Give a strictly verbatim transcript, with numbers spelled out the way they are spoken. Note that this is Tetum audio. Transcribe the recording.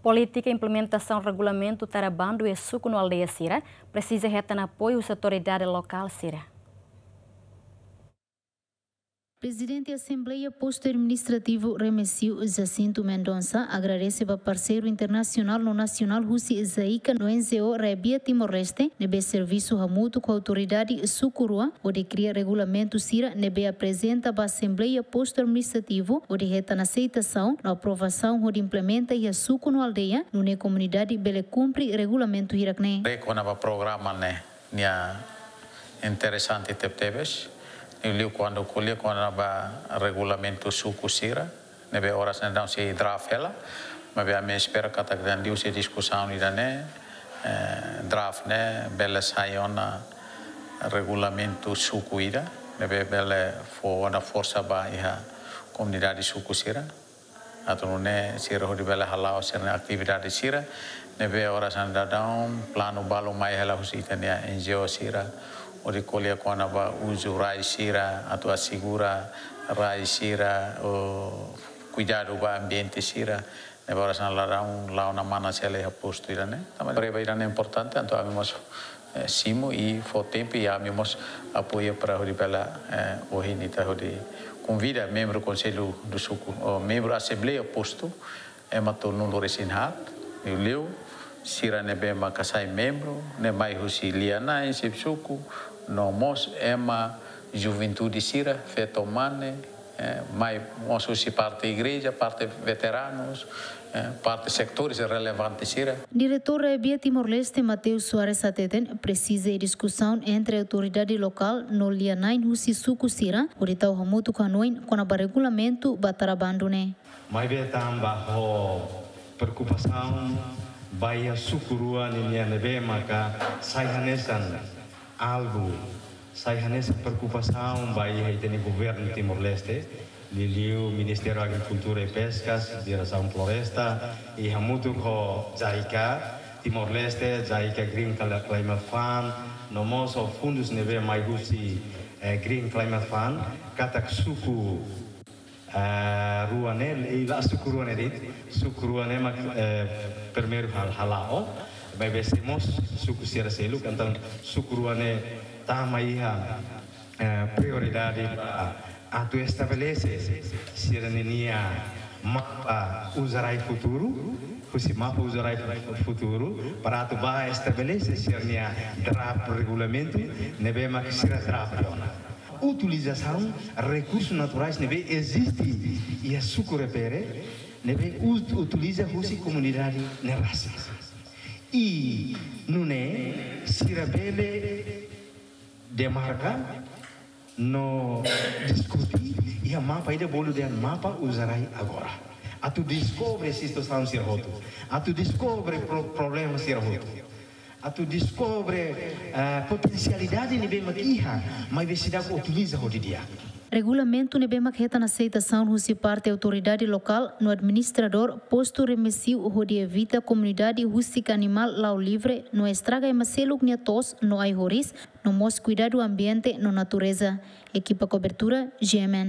Polítika implementasaun regulamentu tara bandu iha suku no aldeia sira presiza hetan apoiu husi autoridade lokál sira. Prezidente Asembleia Postu Administrativu Remexio, Jacinto Mendonça, agradese ba parseiru internasionál no nasionál husi JICA no NGO Rai-Bia Timor-Leste ne'ebé servisu hamutuk ho autoridade suku rua hodi kria regulamentu sira ne'ebé aprezenta ba Asembleia Postu Administrativu hodi hetan aseitasaun no aprovasaun hodi implementa iha suku no aldeia, nune'e komunidade bele kumpre regulamentu hirak-ne'e. Kona-ba programa ne'e, nia interesante tebetebes. Liuliu kuandu ko'alia kona-ba regulamentu suku sira, ne'ebé oras ne'e daudaun sei draft hela, maibé ami espera katak liuhusi diskusaun ida-ne'e, eh, draft ne'e bele sai ona regulamentu suku ida, ne'ebé bele fó ona forsa ba iha komunidade suku sira. Atu nune'e sira hodi bele hala'o sira-nia atividade sira, ne'ebé oras ne'e daudaun planu balu mai hela husi ita-nia NGO sira, hodi ko'alia kona-ba uzu rai sira, atu asegura rai sira, o kuidadu ba ambiente sira, ne'ebé oras ne'e daudaun la'o ona manas hela iha postu ida-ne'e. Tanba preba ida-ne'e importante, entaun ami mós eh, simu i fó tempu i ami mós apoia para hodi bele, eh, ohin ita hodi konvida membru Konsellu do Suku, ou membru Asembleia Postu, ema tolunulu-resin-haat, liuliu sira ne'ebé maka sai membru, ne'e mai husi lia-na'in, xefe suku, no mós ema juventude sira, feto mane, eh, mai mós husi parte igreja, parte veteranus, eh, parte setores relevantes sira. Diretór Rai-Bia Timor-Leste Mateus Soares hateten, presiza iha diskusaun entre autoridade lokál no lia-na'in husi suku sira, hodi tau hamutuk hanoin kona-ba regulamentu ba tara bandu ne'e. Maibé tanba ho preokupasaun ba iha suku rua ninian ne'ebé maka sai hanesan alvu, sai hanesan preokupasaun ba iha ita-nia governu Timor-Leste, liuliu Ministériu Agrikultura i Peskas, Diresaun Floresta, i hamutuk ho JICA Timor-Leste, JICA Green Cli-, Climate Fund, no mós ho fundus ne'ebé mai husi, eh, Green Climate Fund, katak suku eh, rua ne'e, i la suku rua ne'e de'it, suku rua ne'e mak, eh, primeiru hal-, hala'o, maibé sei mós suku sira seluk, entaun suku rua ne'e tama iha, eh, prioridade ba atu estabelese sira-ninia mapa uza rai futuru, husi mapa uza rai fu-, futuru, para atu bá estabelese sira-nia draft regulamentu, ne'ebé mak sira draft ona. Utilizasaun rekursus naturais ne'ebé eziste iha suku refere, ne'ebé ut-, utiliza husi komunidade ne'e rasik. I nune'e sira bele demarka no diskute iha mapa ida bolu dehan mapa uza rai agora. Atu deskobre situasaun sira hotu. Atu deskobre pro-, problema sira hotu. Atu deskobre, eh, potensialidade ne'ebé mak iha, maibé seidauk utiliza ho di'ak. Regulamentu ne'ebé mak hetan aseitasaun husi parte autoridade lokál no administradór postu Remexio hodi evita komunidade husik animál la'o livre no estraga ema seluk nia to'os no ai-horis, no mós kuidadu ambiente no natureza. Ekipa kobertura, GMN.